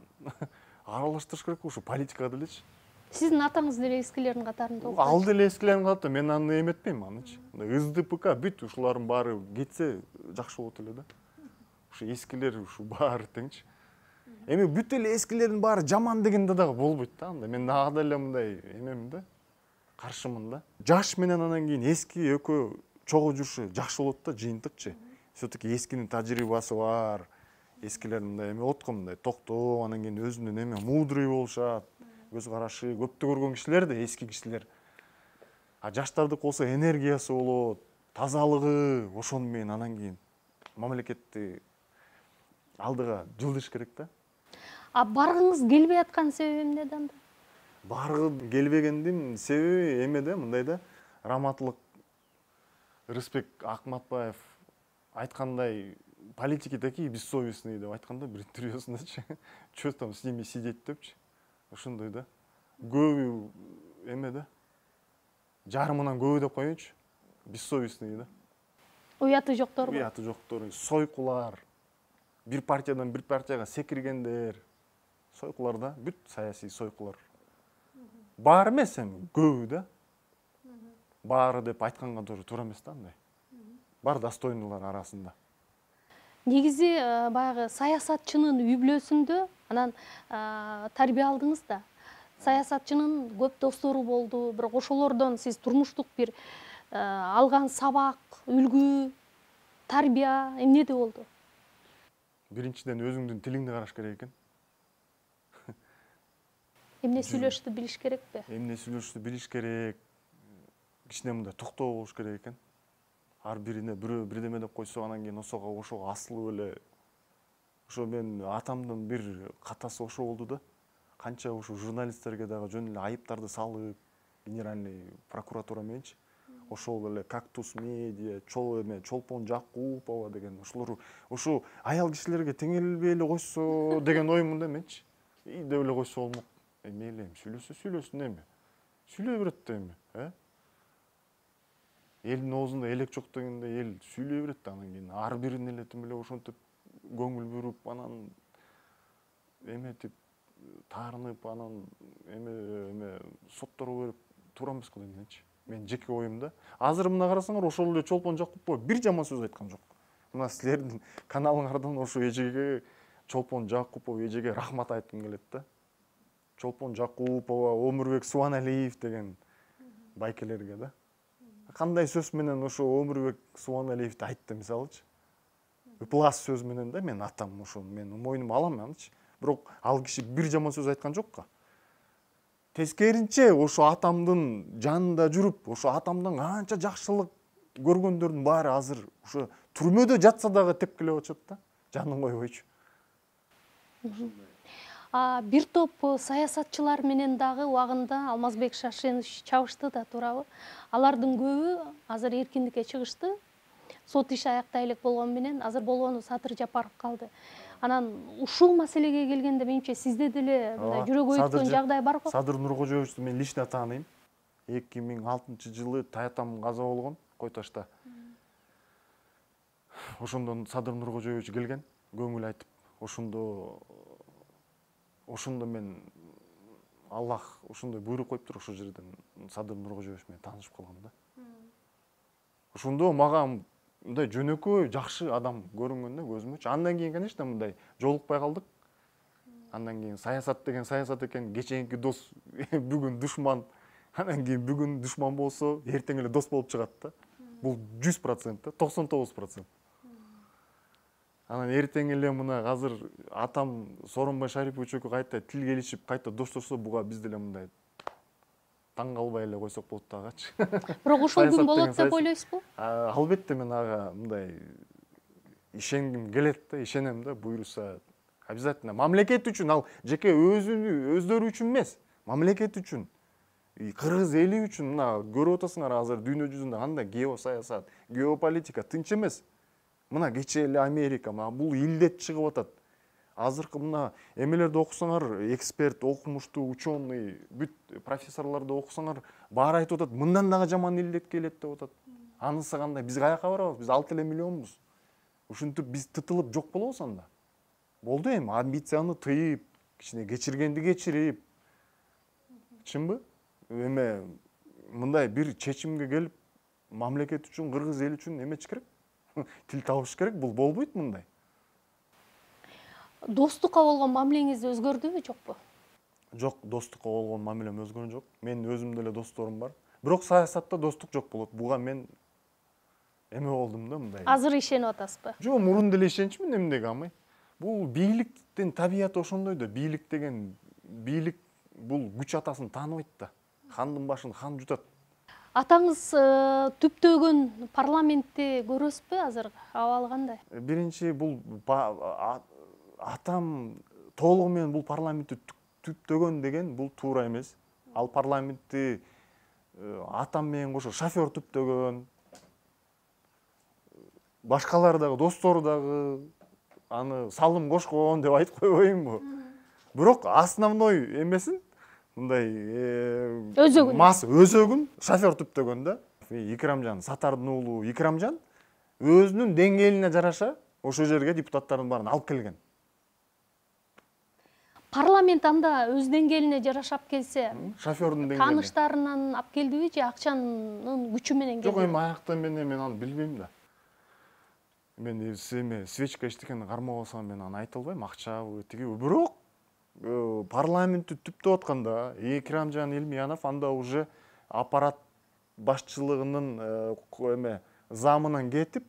аралаштырыш керек ушу политикада элечи.
Сиздин атаңыз деле эскилердин катарында окуйт.
Ал деле эскилердин катарында, мен аны эметпейм анычы. СДПК бүт ушулардын баары кетсе жакшы болот эле да. Ушу эскилер ушу баары теңчи. Эми бүт эле эскилердин баары жаман дегенде дагы болбойт да. Мен дагы деле мындай эмемин да, каршымын да. Жаш менен анан кийин эски экөө чогуу жүрүшү жакшы болот да, жыйынтыкчы. Все-таки эскинин тажрыйбасы бар. Эскилер мындай эме болот го, мындай токтоо, анан кийин өзүнүн эме мудрый болушат. көз карашы көптү көргөн кишилер да эски кишилер. А жаштардыкы болсо энергиясы болот, тазалыгы, ошону менен анан кийин мамлекетти алдыга жылдыш керек да.
А баргыңыз келбей аткан себеби эмнеде анда?
Баргы келбегендин себеби эмеде, мындай да, Раматылык Рысбек Акматбаев айткандай, политики такие бессовестные деп айтканда бир интервьюсундачы. Чё там с ними сидеть депчи. Ошондой да. Көбү эме да. Жарымынан көбү деп коеюнчу. Бессовестные да.
Уяты жоктор.
Уяты жоктор, сойкулар. Бир партиядан бир партияга секиргендер. Сойкулар да, бүт саясий сойкулар. Бар эмес эми, көбү да. Баары деп айтканга туура эмес да андай. Бар достойныйлар арасында.
Негизи баягы саясатчынын үй бүлөсүндө анан тарбия алдыңыз да. Саясатчынын көп достору болду, бирок ошолордон сиз турмуштук бир алган сабак, үлгү, тарбия эмнеде болду?
Биринчиден өзүңдүн тилиңди караш керек экен.
Эмне сүйлөштү билиш керекпи?
Эмне сүйлөштү билиш керек. Кичине мындай токтоо болуш керек экен. Ар бирине бирөө бирдеме деп койсо, анан кийин ошого асылып эле. Ошо мен атамдын бир катасы ошо болду да. Канча ошо журналисттерге дагы жөн эле айыптарды салып, генеральный прокуратура мененчи. Ошол эле Кактус медиа, Чолпон Жакупова деген ошолор ошо аял кишилерге теңелбей эле койсо деген оюм да менчи. Деп эле койсо болмок. Мейли эми сүйлөсүн эми. Сүйлөй берет да эми, Элдин оозунда элек жок дегенде эл сүйлөй берет да, анан кийин ар бирин эле тим эле ошентип көңүл буруп, анан эметип, таарынып, анан эме сотторго берип туура эмес го дейминчи. Мен жеке оюм да. Азыр мына карасаңар, ошол эле Чолпон Жакупов бир жаман сөз айткан жок. Мына силердин каналыңардан ошо эжеге, Чолпон Жакупов эжеге рахмат айткым келет да. Чолпон Жакупова, Өмүрбек Субаналиев деген байкелерге да. Кандай сөз менен ошо Өмүрбек Субаналиевди айтты мисалычы. Ыплас сөз менен да, мен атам ошо, мен мойнума алам анычы. Бирок ал киши бир жаман сөз айткан жокко. Тескеринче ошо атамдын жанында жүрүп, ошо атамдан канча жакшылык көргөндөрдүн баары азыр ошо түрмөдө жатса дагы тепкилеп атышат да, жанын койбойчу.
Бир топ саясатчылар менен дагы убагында Алмазбек Шашенович чабышты да, туурабы? Алардын көбү азыр эркиндикке чыгышты. Сот иши аяктай элек болгону менен азыр болгону Садыр Жапаров калды. Анан ушул маселеге келгенде менимче сизде деле мындай жүрөгү өткөн жагдай барбы?
Садыр Нуркожоевичти мен лично тааныйм. 2006-жылы Таятам каза болгон Кой Ташта. Ошондон Садыр Нуркожоевич келген, көңүл айтып, ошондо мен Аллах ошондой буйрук коюптур, ошол жерден Садыр Нуркожоевич менен таанышып калгам да. Ошондо мага мындай жөнөкөй жакшы адам көрүнгөн да көзүмөчү. Андан кийин, конечно, мындай жолукпай калдык. Андан кийин саясат деген саясат экен, кечээки дос бүгүн душман, анан кийин бүгүн душман болсо, эртең эле дос болуп чыгат да. Бул 100%, 99%. Анан эртең эле мына азыр атам Сооронбай Шарипович экөө кайта тил келишип, кайта достошсо, буга биз деле мындай таң калбай эле койсок болот дагычы.
Бирок ошол күн болот деп ойлойсузбу?
Албетте мен ага мындай ишенгим келет да, ишенем да, буйруса обязательно. Мамлекет үчүн, ал жеке өздөрү үчүн эмес, мамлекет үчүн, кыргыз эли үчүн. Мына көрүп атасыңар азыр дүйнө жүзүндө кандай геосаясат, геополитика тынч эмес. Мына кечээ эле Америка, мына бул илдет чыгып атат. Азыркы мына эмелерди окусаңар, эксперт, окумуштуу, ученый, бүт профессорлорду окусаңар, баары айтып атат, мындан дагы жаман илдет келет деп атат. Анысы кандай? Биз каяка барабыз? Биз 6 миллионбуз. Ушинтип биз тытылып жок болобуз анда. Болду эми, амбицияны тыйып, кичине кечиргенди кечирип. Чынбы? Эме мындай бир чечимге келип, мамлекет үчүн, кыргыз эл үчүн эметиш керек. Тил табыш керек, бул болбойт мындай.
Достукка болгон мамилеңиз өзгөрдүбү, жокпу?
Жок, достукка болгон мамилем өзгөргөн жок. Менин өзүмдө эле досторум бар. Бирок саясатта достук жок болот. Буга мен эме болдум да мындай.
Азыр ишенип атасызбы?
Жок, мурун деле ишеничмин, эмнеге амай. Бул бийликтин табияты ошондой да. Бийлик деген бийлик бул күч атасын тааныбайт да. Хандын башын хан жутат.
Атаңыз түптөгөн парламентти көрөсүзбү азыр? Абалы кандай?
Биринчи бул атам толугу менен бул парламентти түптөгөн деген бул туура эмес. Ал парламентти атам менен кошо шофер түптөгөн, башкалар дагы, достору дагы аны салым кошкон деп айтып койбоймунбу? Бирок основной эмесин мындай өзөгүн шофер түптөгөн да. Икрамжан Сатардын уулу Икрамжан өзүнүн деңгээлине жараша ошол жерге депутаттардын баарын алып келген.
Парламент анда өз деңгээлине жарашап келсе,
Шофердун деңгээлине.
Тааныштарынан алып келдиби же акчанын күчү менен келдиби?
Жок, эми аякта мен аны билбейм да. Мен эме свечка эчтекени кармабасам мен аны айта албайм, акчабы, тигиби. Бирок парламентти түптөп атканда Икрамжан Элмиянов анда уже аппарат башчылыгынын эме замынан кетип,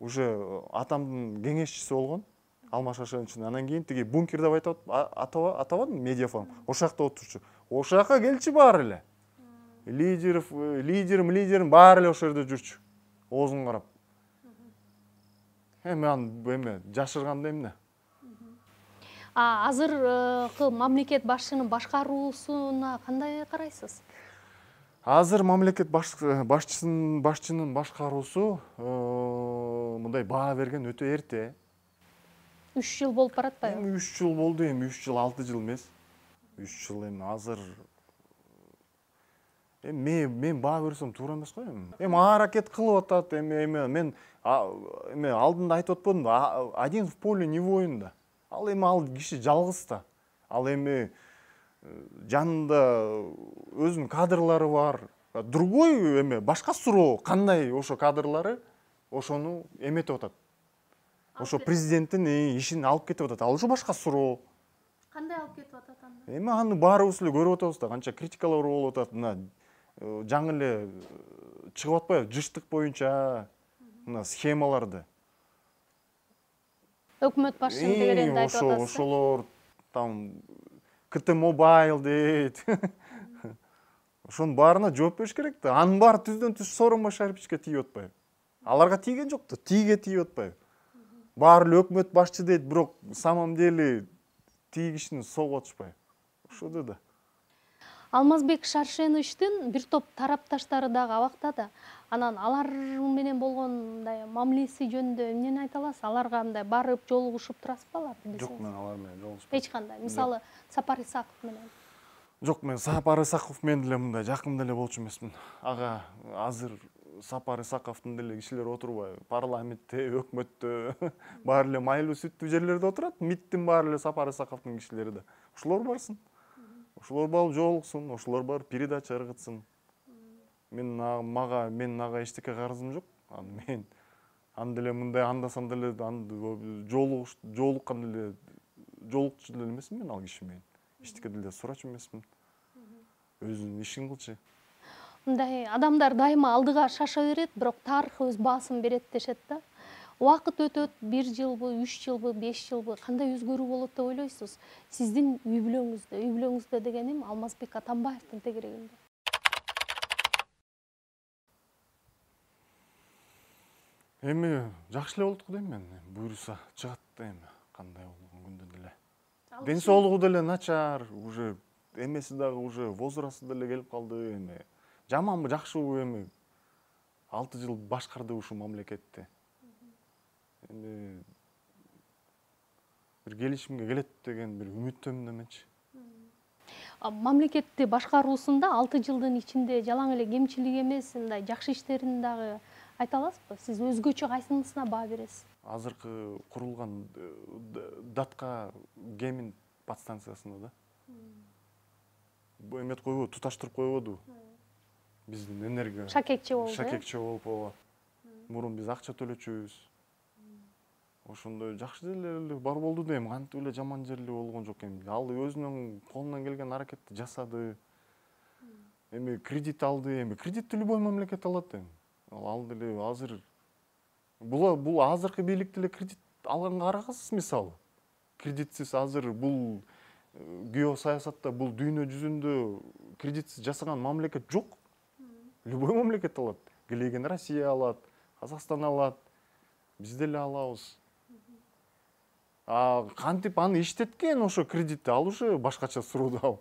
уже атамдын кеңешчиси болгон. Алмаз Шашеновичтин. Анан кийин тиги бункер деп атабадым, медиафорум. Ошол жакта отурчу. Ошол жака келчү баары эле. Лидерим баары эле ошол жерде жүрчү. Оозун карап. Эми аны жашырганда эмне?
Азыркы мамлекет башчынын башкаруусуна кандай карайсыз?
Азыр мамлекет башчынын башкаруусу мындай баа берген өтө эрте.
3 жыл болуп баратпайбы?
Эми 3 жыл болду, эми 3 жыл 6 жыл эмес. 3 жыл эми азыр мен баа берсем туура эмес го эми. Эми аракет кылып атат, эми мен алдында айтып атпадымбы? Один в поле не воин да. Ал киши жалгыз да. Ал эми жанында өзүнүн кадрлары бар. Другой башка суроо, кандай ошо кадрлары ошону эметип атат. Ошо президенттин ишин алып кетип атат. Ал ушу башка суроо.
Кандай алып кетип атат анда?
Эми аны баарыбыз эле көрүп атабыз да, канча критикалар болуп атат. Мына жаңы эле чыгып атпайбы? Жыштык боюнча мына схемаларды.
Өкмөт башчынын тегерегинде айтып атасыз.
Ошолор там КТ Mobile дейт. Ошонун баарына жооп бериш керек да. Анын баары түздөн түз Сооронбай Башаровичке тийип атпайбы? Аларга тийген жок да, тийге тийип атпайбы? Баары эле өкмөт башчы дейт, бирок самом деле тиги кишини согуп атышпайбы? Ошодо да.
Алмазбек Шаршеновичтин бир топ тарапташтары дагы абакта да. Анан алар менен болгон мындай мамилеси жөнүндө эмнени айта аласыз? Аларга мындай барып жолугушуп турасызбы аларды?
Жок, мен алар менен жолугушпайм.
Эч кандай. Мисалы, Сапар Исаков менен.
Жок, мен Сапар Исаков менен деле мындай жакын деле болчу эмесмин. Ага, азыр Сапар Исаковдун деле кишилери отурбайбы? Парламентте, өкмөттө баары эле майлуу сүттүү жерлерде отурат. МИДтин баары эле Сапар Исаковдун кишилери да. Ошолор барсын. Ошолор барып жолуксун, ошолор барып передача ыргытсын. Менин ага эчтеке карызым жок. Мен аны деле мындай андасам деле жолуккан деле жолукчу деле эмесмин мен ал киши менен. Эчтеке деле сурачу эмесмин. Өзүнүн ишин кылчу.
Мындай адамдар дайыма алдыга шаша берет, бирок тарых өз баасын берет дешет да. Убакыт өтөт, 1 жылбы, 3 жылбы, 5 жылбы кандай өзгөрүү болот деп ойлойсуз? Сиздин үй бүлөңүздө дегеним Алмазбек Атамбаевдин тегерегинде.
Эми жакшы эле болот го дейм мен. Буйруса чыгат да эми кандай болгон күндө деле. Ден соолугу деле начар, уже эмеси дагы уже возрасты деле келип калды эми. Жаманбы, жакшыбы эми 6 жыл башкарды ушул мамлекетти. Эми бир келишимге келет деген бир үмүттөмүн эменчи.
Мамлекетти башкаруусунда 6 жылдын ичинде жалаң эле кемчилик эмес, мындай жакшы иштерин дагы айта аласызбы? Сиз өзгөчө кайсынысына баа бересиз?
Азыркы курулган Датка Гемин подстанциясына да. Бу эмет койбойбу, туташтырып койбоду. Биздин энергия
Шакекче болду.
Шакекче болуп ооба. Мурун биз акча төлөчүбүз. Ошондой жакшы жерлери бар болду да, эми кантип эле жаман жери болгон жок эми. Ал өзүнүн колунан келген аракетти жасады. Эми кредит алды, эми кредитти любой мамлекет алат эми. Ал деле азыр бул азыркы бийлик деле кредит алганга карагысыз, мисалы. Кредитсиз азыр бул геосаясатта бул дүйнө жүзүндө кредитсиз жасаган мамлекет жок. Любой мамлекет алат. Келеген Россия алат, Казакстан алат, биз деле алабыз. Кантип аны иштеткен ошо кредитти, ал уже башкача суроо.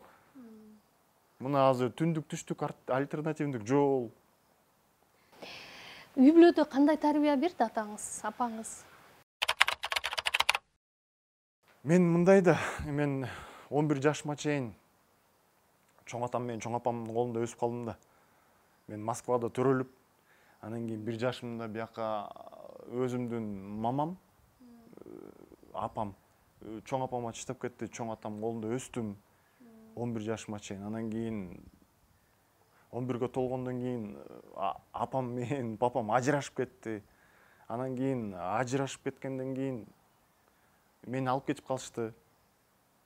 Мына азыр түндүк түштүк альтернативдик жол.
Үй бүлөдө кандай тарбия берди атаңыз, апаңыз?
Мен мындай да, мен 11 жашыма чейин чоң атам менен чоң апамдын колунда өсүп калдым да. Мен Москвада төрөлүп, анан кийин 1 жашымда бияка өзүмдүн мамам, апам, чоң апам таштап кетти, чоң атам колунда өстүм 11 жашыма чейин. Анан кийин 11ге толгондон кийин апам менен папам ажырашып кетти. Анан кийин ажырашып кеткенден кийин мени алып кетип калышты.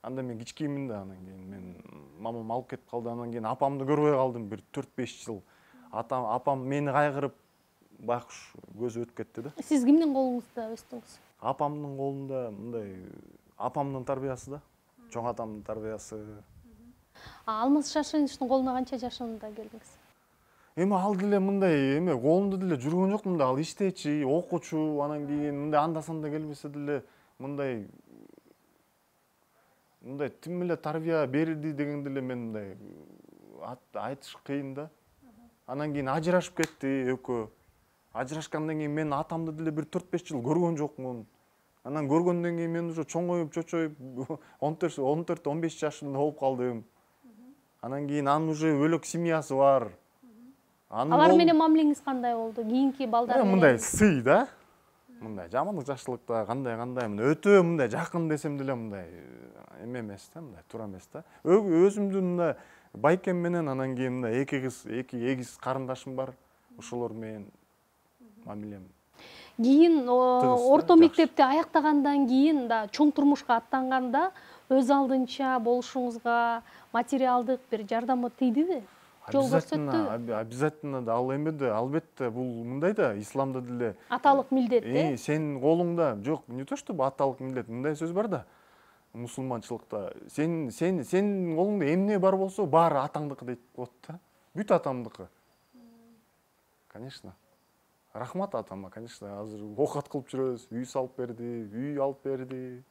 Анда мен кичкеймин да, анан кийин мен мамам алып кетип калды. Анан кийин апамды көрбөй калдым бир 4-5 жыл. Апам мени кайгырып байкуш көзү өтүп кетти да.
Сиз кимдин колуңузда өстүңүз?
Апамдын колунда, мындай апамдын тарбиясы да, чоң атамдын тарбиясы.
Алмаз Шашиновичтин колуна канча жашында келдиңиз?
Эми ал деле мындай колунда деле жүргөн жокмун да, ал иштечи, окуучу, анан кийин мындай анда-санда келбесе деле мындай тим эле тарбия берди деген деле мен мындай айтыш кыйын да. Анан кийин ажырашып кетти экөө. Ажырашкандан кийин мен атамды деле бир 4-5 жыл көргөн жокмун. Анан көргөндөн кийин мен уже чоңоюп, чочоюп 14-15 жашымда болуп калдым. Анан кийин анын уже бөлөк семьясы бар.
Алар менен мамилеңиз кандай болду? Кийинки балдар менен?
Мындай сый да. Мындай жамандык жакшылыкта кандай мындай өтө мындай жакын десем деле мындай эме эмес да, мындай туура эмес да. Өзүмдүн мындай байкем менен анан кийин мындай эки эгиз карындашым бар. Ошолор менен мамилем.
Кийин орто мектепти аяктагандан кийин да чоң турмушка аттанганда өз алдынча болушуңузга материалдык бир жардамы тийдиби? Жол көрсөттүбү?
Обязательно да, ал эме да, албетте бул мындай да, исламда деле
аталык милдет да.
Сенин колуңда жок, не то чтобы аталык милдет, мындай сөз бар да. Мусулманчылыкта сенин колуңда эмне бар болсо, баары атаңдыкы дейт болот да. Бүт атамдыкы. Конечно. Рахмат атама, конечно, азыр оокат кылып жүрөбүз, үй салып берди, үй алып берди.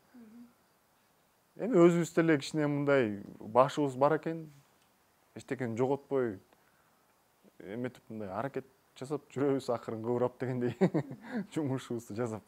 Эми өзүбүз деле кичине мындай башыбыз бар экен, эчтекени жоготпой эметип мындай аракет жасап жүрөбүз, акырын кыбырап дегендей жумушубузду жасап.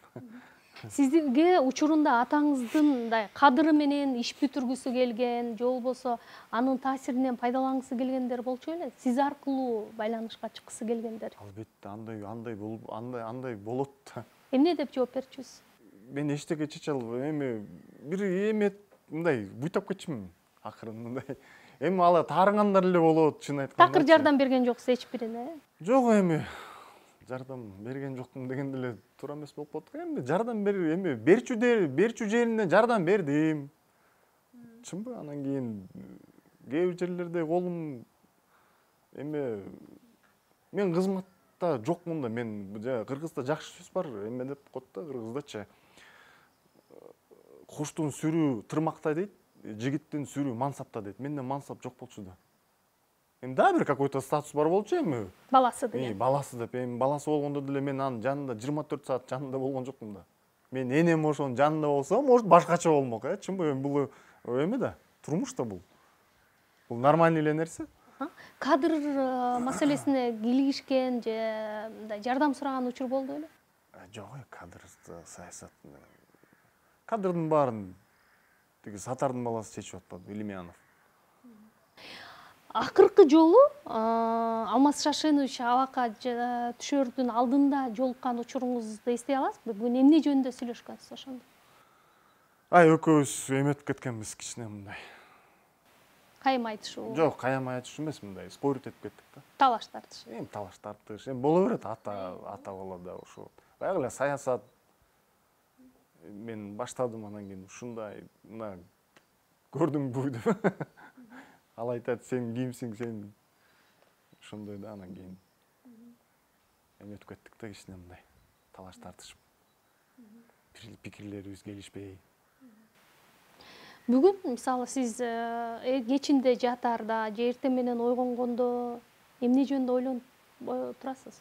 Сизге учурунда атаңыздын мындай кадыры менен иш бүтүргүсү келген, же болбосо анын таасиринен пайдалангысы келгендер болчу беле? Сиз аркылуу байланышка чыккысы келгендер?
Албетте, андай болот да.
Эмне деп жооп берчүсүз?
Мен эчтеке чече албайм. Эми бир эмет мындай буйтап кетчүмүн акырын мындай. Эми ала таарынгандар эле болот, чын айтканда.
Такыр жардам берген жоксуз эч бирине?
Жок, эми жардам берген жокмун деген деле туура эмес болуп калат. Эми жардам берчү жерине жардам бердим. Чынбы? Анан кийин кээ бир жерлерде колум эми мен кызматта жокмун да. Мен кыргызда жакшы сөз бар, эме деп коет да кыргыздачы. Куштун сүрү тырмакта дейт, жигиттин сүрү мансапта дейт. Менде мансап жок болчу да. Эми да бир какой-то статус бар болчу эми.
Баласы деген.
Баласы деп, эми баласы болгондо деле мен анын жанында 24 саат жанында болгон жокмун да. Мен энем ошонун жанында болсом, может башкача болмок, чынбы? Эми бул эме да, турмуш да бул. Бул нормальный эле нерсе.
Кадр маселесине кийлигишкен же мындай жардам сураган учур болду беле?
Жок, кадр саясат. Кадрдын баарын тиги Сатардын баласы чечип атпадыбы, Илимянов.
Акыркы жолу Алмаз Шашинович абакка түшөрдүн алдында жолуккан учуруңузду эстей аласызбы? Бүгүн эмне жөнүндө сүйлөшкөнсүз ошондо?
Экөөбүз эметип кеткенбиз кичине мындай.
Кайым айтышуу?
Жок, кайым айтышуу эмес, мындай спорить этип кеттик да.
Талаш тартыш.
Эми талаш тартыш. Эми боло берет, ата бала да ошо. Баягы эле саясат мен баштадым, анан кийин ушундай мына көрдүңбү деп. Ал айтат, сен кимсиң, сен ошондой да, анан кийин эметип кеттик да кичине мындай талаш тартышып. Пикирлерибиз келишпей.
Бүгүн мисалы сиз кечинде жатаарда же эртең менен ойгонгондо эмне жөнүндө ойлонуп турасыз?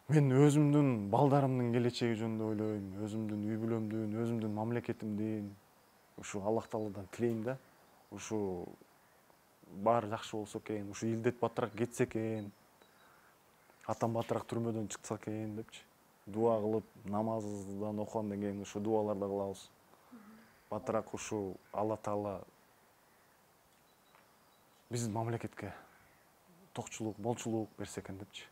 Мен өзүмдүн балдарымдын келечеги жөнүндө ойлойм, өзүмдүн үй бүлөмдүн, өзүмдүн мамлекетимдин, ушу Аллах Тааладан тилейм да. Ушу баары жакшы болсо экен, ушу илдет баттыраак кетсе экен, атам баттыраак түрмөдөн чыкса экен депчи. Дуа кылып, намаздан окугандан кийин ушу дуаларды кылабыз. Баттыраак ушу Алла Таала биздин мамлекетке токчулук, молчулук берсе экен депчи.